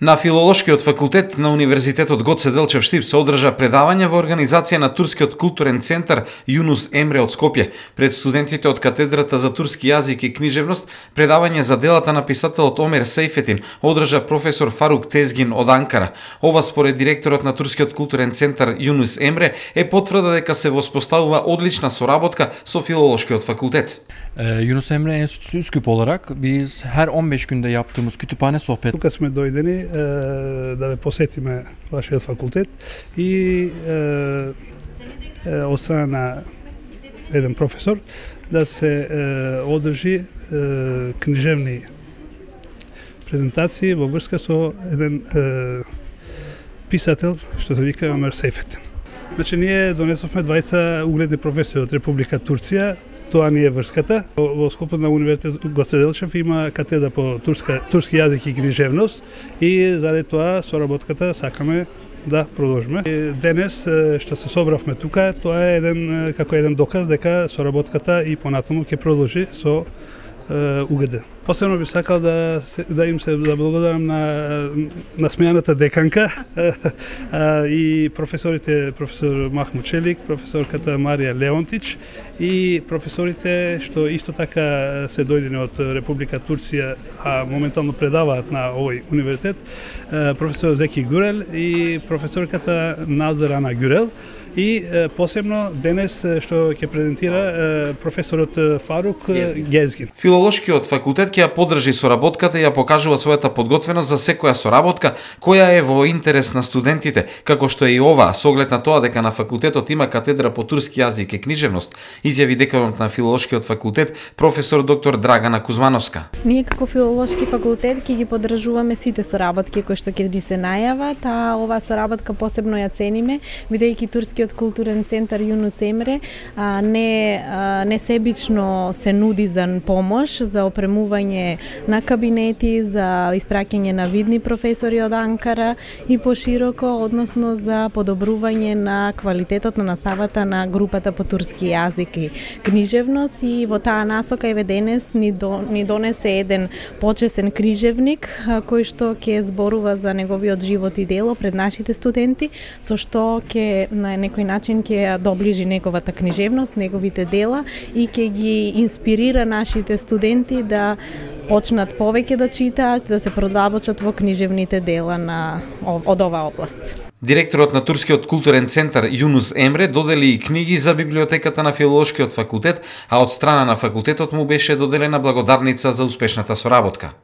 На Филолошкиот факултет на Универзитетот Гоце Делчев Штип се одржа предавање во организација на Турскиот културен центар Юнус Емре од Скопје. Пред студентите од катедрата за турски јазик и книжевност, предавање за делата на писателот Омер Сейфетин одржа професор Фарук Тезгин од Анкара. Ова според директорот на Турскиот културен центар Юнус Емре е потврда дека се воспоставува одлична соработка со Филолошкиот fakultet. Yunus Emre Enstitüsü Üsküp olarak biz her 15 günde yaptığımız kütüphane sohbet. Тука сме дојдени да ве посетиме вашиот факултет и од страна на еден професор да се одржи книжевни презентации во врска со еден писател што се вика Омер Сейфетин. Значи ние донесовме 20 угледни професори од Република Турција. Тоа не е врската. Во скопот на Универзитетот Гоце Делчев има катедра по турски јазик и книжевност и заради тоа соработката сакаме да продолжиме. Денес што се собравме тука, тоа е еден доказ дека соработката и понатаму ќе продолжи со УГД. Посебно би сакал да им се благодарам на смејаната деканка и професорите, професор Махмуд Челик, професорката Марија Леонтич и професорите што исто така се дојдени од Република Турција, а моментално предаваат на овој универзитет, професор Зеки Гюрел и професорката Назарана Гюрел. И посебно денес што ќе презентира професорот Фарук Гезгин. Филолошкиот факултет ќе ја поддржи соработката и ја покажува својата подготвеност за секоја соработка која е во интерес на студентите, како што е и ова, со оглед на тоа дека на факултетот има катедра по турски јазик и книжевност, изјави деканот на Филолошкиот факултет професор доктор Драгана Кузмановска. Ние како Филолошки факултет ќе ги поддржуваме сите соработки кои што ќе ни се најават, а оваа соработка посебно ја цениме, бидејќи турски културен центар Юнус Емре не себично се нуди за помош, за опремување на кабинети, за испраќање на видни професори од Анкара и пошироко, односно за подобрување на квалитетот на наставата на групата по турски јазик и книжевност, и во таа насока еве денес ни донесе еден почесен книжевник кој што ќе зборува за неговиот живот и дело пред нашите студенти, со што ќе на некој начин ќе ја доближи неговата книжевност, неговите дела и ќе ги инспирира нашите студенти да почнат повеќе да читаат, да се продавочат во книжевните дела од оваа област. Директорот на Турскиот културен центар Юнус Емре додели и книги за библиотеката на Филолошкиот факултет, а од страна на факултетот му беше доделена благодарница за успешната соработка.